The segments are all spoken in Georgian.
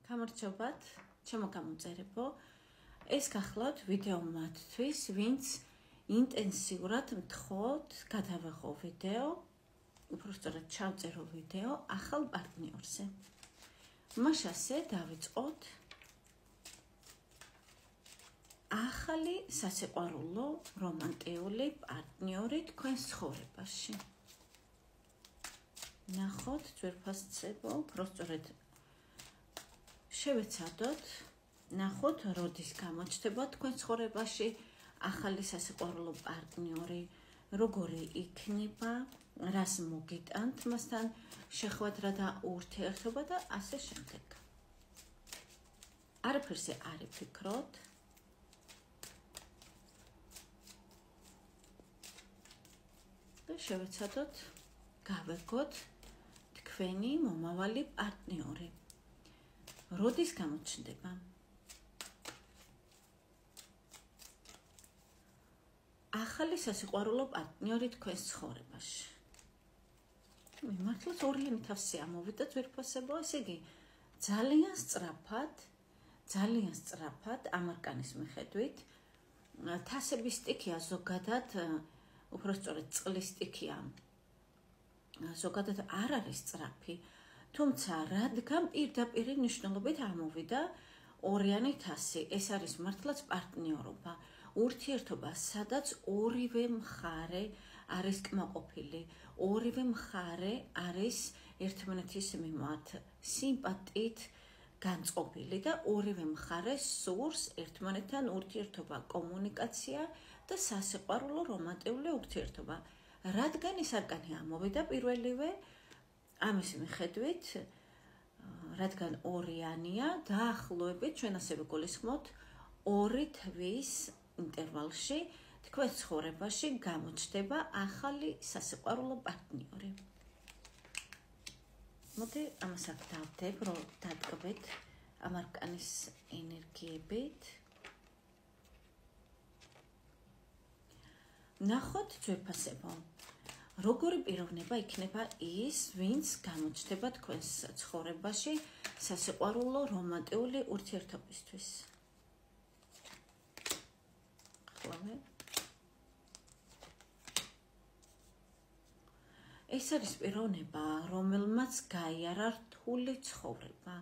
გამარჯობათ, ჩემო გამოწერებო. ეს გახლავთ ვიდეო მათთვის, ვინც ინტენსიურად მთხოვთ გადავიღო ვიდეო, უბრალოდ ჩავწერო ვიდეო ახალ პარტნიორზე. მაშასე დავიწყოთ ახალი სასიყვარულო რომანტიული პარტნიორი თქვენს ცხოვრებაში. ნახოთ ძვირფასცებო, უბრალოდ შევეცადოთ, ნახოთ როდის გამოჩნდება თქვენ ცხოვრებაში ახალი სასიყვარულო პარტნიორი, როგორი იქნება, რას მოგიტანთ მასთან შეხვედრა და ურთიერთობა და ასე შემდეგ. არაფერზე არ იფიქროთ. და შევეცადოთ, გავეგოთ თქვენი მომავალი პარტნიორი. როდის გამოჩნდება? ახალი სასიყვარულო პარტნიორი თქვენს ცხოვრებაში. მართლაც ორიანი თავსი ამოვიდა ძვირფასებო, ესე იგი ძალიან სწრაფად ამარკანის მიხედვით თასების სტიქია ზოგადად, უბრალოდ წყლის სტიქია ზოგადად არ არის სწრაფი, თუმცა რადგან პირდაპირი ნიშნულობით ამოვიდა ორიანი თასი, ეს არის მართლაც პარტნიორობა, ურთიერთობა, სადაც ორივე მხარე არის კმაყოფილი, ორივე მხარე არის ერთმანეთის მიმართ სიმპათიით განწყობილი და ორივე მხარე სურს ერთმანეთთან ურთიერთობა, კომუნიკაცია და სასიყვარულო რომანტიული ურთიერთობა. რადგან ის არკანი ამოვიდა პირველივე, ამის მიხედვით, რადგან ორიანია, დაახლოებით ჩვენ ასევე გულისხმობთ 2 თვის ინტერვალში თქვენ ცხოვრებაში გამოჩნდება ახალი სასიყვარულო პარტნიორი. მოდი ამას აქ დავდებ, რომ დატკბეთ ამარკანის ენერგიებით. ნახოთ ძვირფასებო, როგორი პიროვნება იქნება ის, ვინც გამოჩნდება თქვენს ცხოვრებაში სასიყვარულო რომანტიული ურთიერთობისთვის. ეს არის პიროვნება, რომელმაც გაიარა რთული ცხოვრება,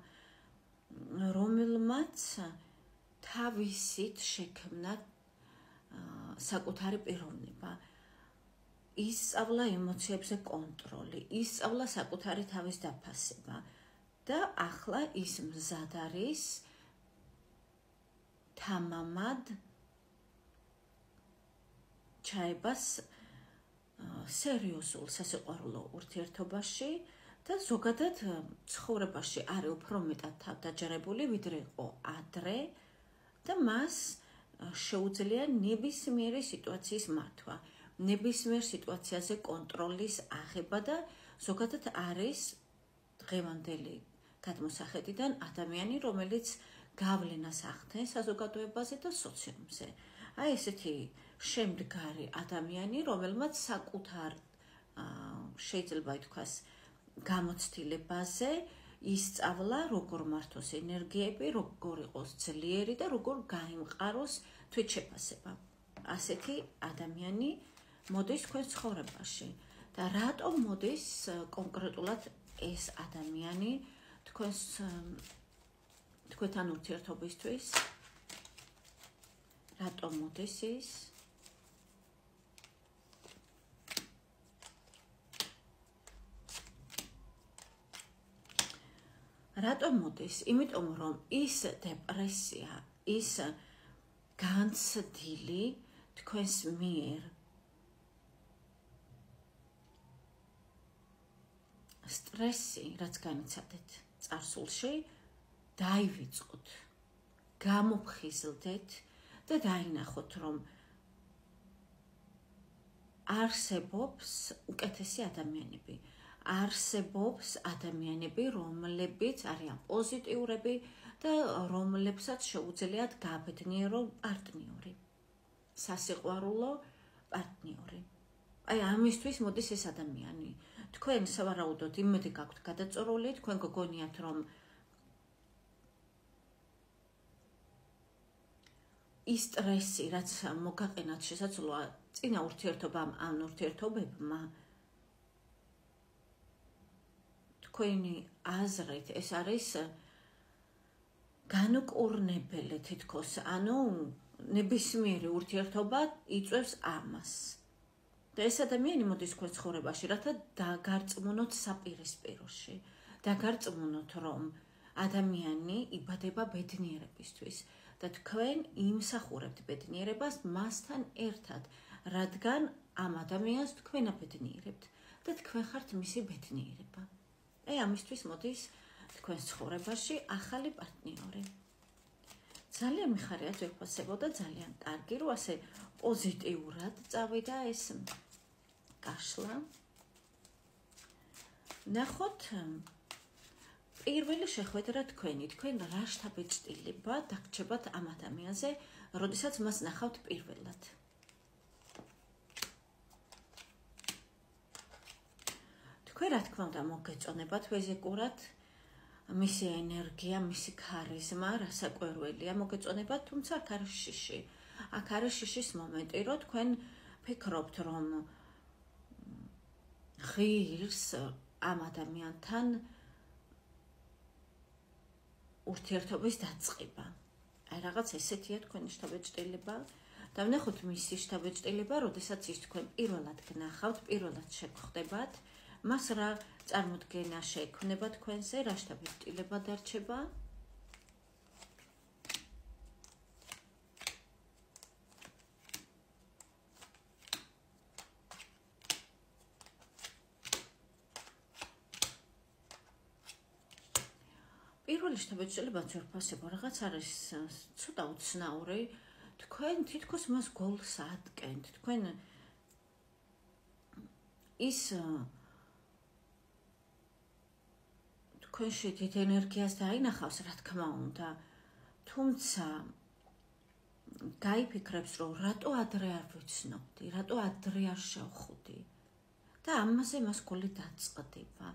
რომელმაც თავისით შექმნა საკუთარი პიროვნება, ისწავლა ემოციებზე კონტროლი, ისწავლა საკუთარი თავის დაფასება და ახლა ის მზად არის თამამად ჩაებას სერიოზულ სასიყვარულო ურთიერთობაში და ზოგადად ცხოვრებაში არის უფრო მეტად თავდაჯერებული, ვიდრე იყო ადრე და მას შეუძლია ნებისმიერი სიტუაციის მართვა, ნებისმიერ სიტუაციაზე კონტროლის აღება და ზოგადად არის დღევანდელი გადმოსახედიდან ადამიანი, რომელიც გავლენას ახდენს საზოგადოებაზე და სოციუმზე. აი ესეთი შემდგარი ადამიანი, რომელმაც საკუთარ შეიძლება ითქვას გამოცდილებაზე ისწავლა, როგორ მართოს ენერგიები, როგორ იყოს ძლიერი და როგორ გაიმყაროს თვითშეფასება. ასეთი ადამიანი მოდის თქვენს ცხოვრებაში და რატომ მოდის კონკრეტულად ეს ადამიანი თქვენთან ურთიერთობისთვის? რატომ მოდის ის? რატომ მოდის? იმიტომ რომ ის დეპრესია, ის განცდილი თქვენს მიერ სტრესი, რაც განიცადეთ წარსულში, დაივიწყოთ, გამოფხიზლდეთ და დაინახოთ, რომ არსებობს უკეთესი ადამიანები. არსებობს ადამიანები, რომლებიც არიან პოზიტიურები და რომლებსაც შეუძლიათ გაბედნიერო პარტნიორი, სასიყვარულო პარტნიორი. აი ამისთვის მოდის ეს ადამიანი. თქვენ სავარაუდოდ იმედი გაქვთ გადაწორული, თქვენ გოგონიათ, რომ ის სტრესი, რაც მოგაყენათ შესაძლოა წინა ურთიერთობამ ან ურთიერთობებმა, თქვენი აზრით ეს არის განუკურნებელი თითქოს, ანუ ნებისმიერი ურთიერთობა იწვევს ამას. და ეს ადამიანი მოდის თქვენ ცხოვრებაში, რათა დაგარწმუნოთ საპირისპიროში, დაგარწმუნოთ, რომ ადამიანი იბადება ბედნიერებისთვის და თქვენ იმსახურებთ ბედნიერებას მასთან ერთად, რადგან ამ ადამიანს თქვენ აბედნიერებთ და თქვენ ხართ მისი ბედნიერება. ამისთვის მოდის თქვენ ცხოვრებაში ახალი პარტნიორი. ძალიან მიხარია ძვირფასებო და ძალიან კარგი, რომ ასე პოზიტიურად წავიდა ეს გაშლა. ნახოთ პირველი შეხვედრა თქვენი, თქვენ რა შთაბეჭდილება დაგრჩებათ ამ ადამიანზე, როდესაც მას ნახავთ პირველად. თქვენ რა თქმა უნდა მოგეწონებათ ფიზიკურად, მისი ენერგია, მისი ქარიზმა, რასაკვირველია მოგეწონებათ, თუმცა აქ არის შიში. აქ არის შიშის მომენტი, რომ თქვენ ფიქრობთ, რომ ღირს ამ ადამიანთან ურთიერთობის დაწყება. რაღაც ესეთია თქვენი შთაბეჭდილება და ვნახოთ მისი შთაბეჭდილება, როდესაც ის თქვენ პირველად გნახავთ, პირველად შეგხვდებათ, მას რა წარმოდგენა შეექმნება თქვენზე, რა შთაბეჭდილება დარჩება. პირველი შთაბეჭდილება ძვირფასებო რაღაც არის ცოტა უცნაური, თქვენ თითქოს მას გოლს ატკენთ, თქვენ ის თქვენში დიდ ენერგიას დაინახავს, რა თქმა უნდა, თუმცა გაიფიქრებს, რომ რატო ადრე არ ვიცნობდი, რატო ადრე არ შევხვდი და ამაზე მას გოლი დაწყდება,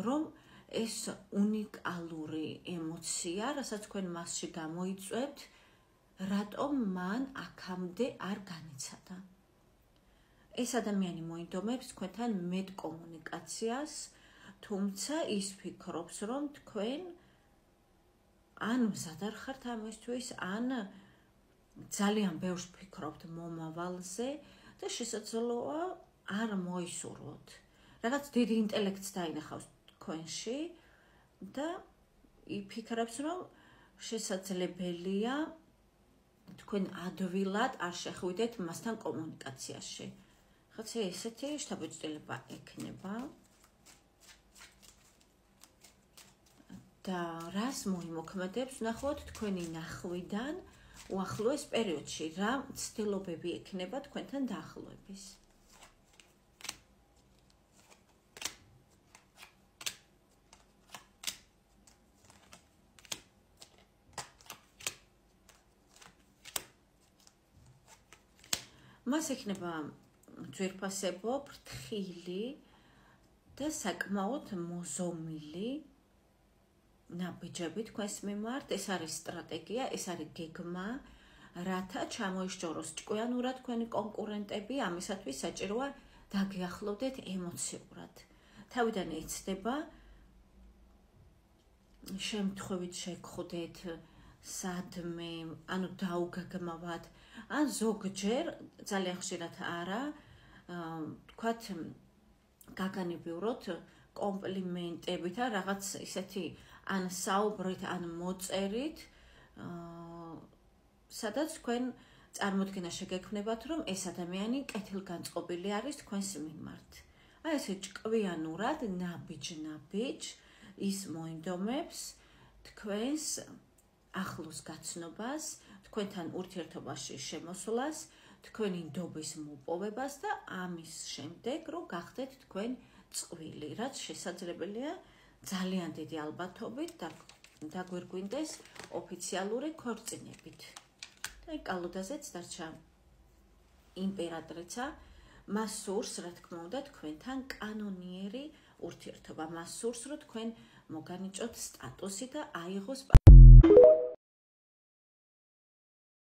რომ ეს უნიკალური ემოცია, რასაც თქვენ მასში გამოიწვევთ, რატომ მან აქამდე არ განიცადა. ეს ადამიანი მოინდომებს თქვენთან მეტ კომუნიკაციას, თუმცა ის ფიქრობს, რომ თქვენ ან მზად არ ხართ ამისთვის, ან ძალიან ბევრს ფიქრობთ მომავალზე და შესაძლოა არ მოისურვოთ. რაღაც დიდი ინტელექტს დაინახავს თქვენში და იფიქრებს, რომ შესაძლებელია თქვენ ადვილად არ შეხვიდეთ მასთან კომუნიკაციაში. ხოცა ესეთი შთაბეჭდილება ექნება და რას მოიმოქმედებს, ნახოთ თქვენი ნახვიდან უახლოეს პერიოდში, რა ცდილობები ექნება თქვენთან დაახლოების. მას ექნება ძვირფასებო, ფრთხილი და საკმაოდ მოზომილი ნაბიჯები თქვენს მიმართ. ეს არის სტრატეგია, ეს არის გეგმა, რათა ჩამოიშჯოროს ჭკვიანურად თქვენი კონკურენტები, ამისათვის საჭიროა დაგიახლოვდეთ ემოციურად. თავიდან იცდება, შემთხვევით შეგხვდეთ სადმე, ანუ დაუგაგმავად, ან ზოგჯერ, ძალიან ხშირად არა, თქვათ გაგანებივროთ კომპლიმენტებით, რაღაც ისეთი ან საუბრით, ან მოწერით, სადაც თქვენ წარმოდგენა შეგექმნებათ, რომ ეს ადამიანი კეთილგანწყობილი არის თქვენს მიმართ. აი ესე ჭკვიანურად, ნაბიჯ-ნაბიჯ ის მოინდომებს თქვენს ახლოს გაცნობას, თქვენთან ურთიერთობაში შემოსვლას, თქვენი ნდობის მოპოვებას და ამის შემდეგ, რომ გახდეთ თქვენ წყვილი, რაც შესაძლებელია ძალიან დიდი ალბათობით დაგვირგვინდეს ოფიციალური ქორწინებით. და კალოდაზეც დარჩა იმპერატრიცა, მას სურს, რა თქმა უნდა, თქვენთან კანონიერი ურთიერთობა, მას სურს, რომ თქვენ მოგანიჭოთ სტატუსი და აიღოს